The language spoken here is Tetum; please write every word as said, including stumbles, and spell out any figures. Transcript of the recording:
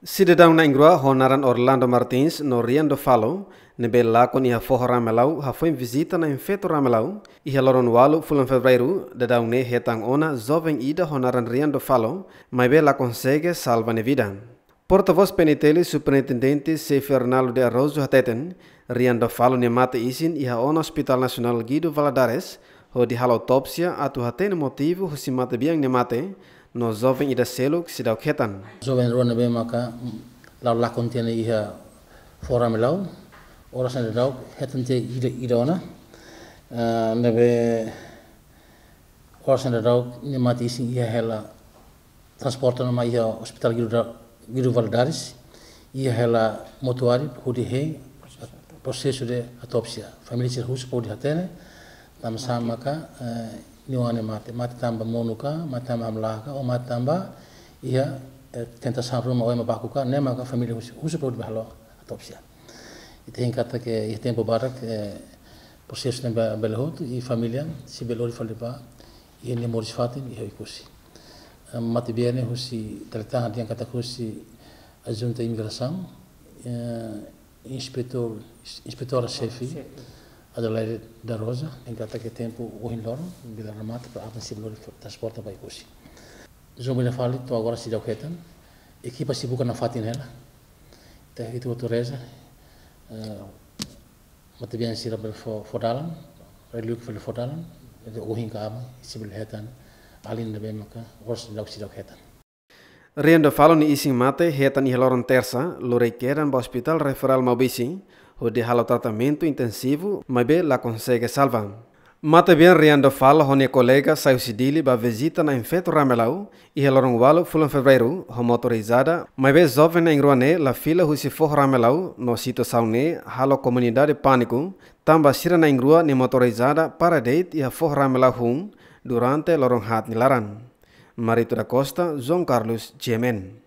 Sidadaun na'in-rua ho naran Orlando Martins no Rian do Falo, ne'ebé lakon iha Foho Ramelau, hafoin vizita Na'in-Feto Ramelau iha loron ualu fulan Fevereiru. Daudaun ne'e hetan ona joven ida ho naran Rian do Falo, maibé la konsege salva nia vida. Portavós P N T L, Superintendente Xefe Arnaldo de Araújo hateten, Rian do Falo nia mate isin iha ona Hospital Nasionál Guido Valadares, hodi halo autópsia atu hatene motivu husi matebian nia mate, no joven ida seluk seidauk hetan. Joven rua ne'ebé maka, mm, la'o lakon tiha ona iha Foho Ramelau, oras ne'e daudaun hetan tiha ida, ida ona, eh, ne'ebé oras ne'e daudaun nia mate isin iha hela transporte ona mai iha Hospital Guido da-, Guido Valadares, iha hela mortuáriu hodi hein prosesu de autópsia. Família sira husu para hodi hatene, tanbasá maka, eh, nia oan ne'e mate, mate tanba monu ka, mate tanba hamlaha ka, ou mate tanba iha, eh, tentasaun ruma ou ema baku ka, ne'e maka família husu, husu para hodi bá halo autópsia. Ita hein katak iha tempu badak, eh, prosesu ne'e be-, bele hotu, i família sei bele lori fali ba iha nia moris-fatin iha Oekusi. Eh, matebian ne'e husi, dala ida tan dehan katak husi Ajunta Imigrasaun, eh, Inspetór, Inspetora Xefe, Xefe. Adelaide da Rosa, dehan katak tempu ohin loron, bila remata, para aban sei bele lori transporta ba Oekusi. Joven ida fali to'o agora seidauk hetan, ekipa sei buka nafatin hela. Ita hotu-hotu reza, eh, matebian sira bele fó, fó dalan, relíkia bele fó dalan, entaun ohin ka aban sei bele hetan alin ne'ebé maka oras daudaun seidauk hetan. Rian do Falo nia isin mate hetan iha loron Tersa, lori kedan ba Hospital Referral Maubisse, hodi halo tratamentu intensivu, maibé la konsege salva. Matebian Rian do Falo ho nia kolega sai husi Dili bá vizita Na'in-Feto Ramelau iha loron ualu fulan Fevereiru ho motorizada, maibé joven na'in-rua ne'e la fila husi Foho Ramelau, no situasaun ne'e halo komunidade pániku, tanba sira na'in-rua nia motorizada para de'it iha Foho Ramelau hun durante loron haat nia laran. Marito da Costa, João Carlos, G M N.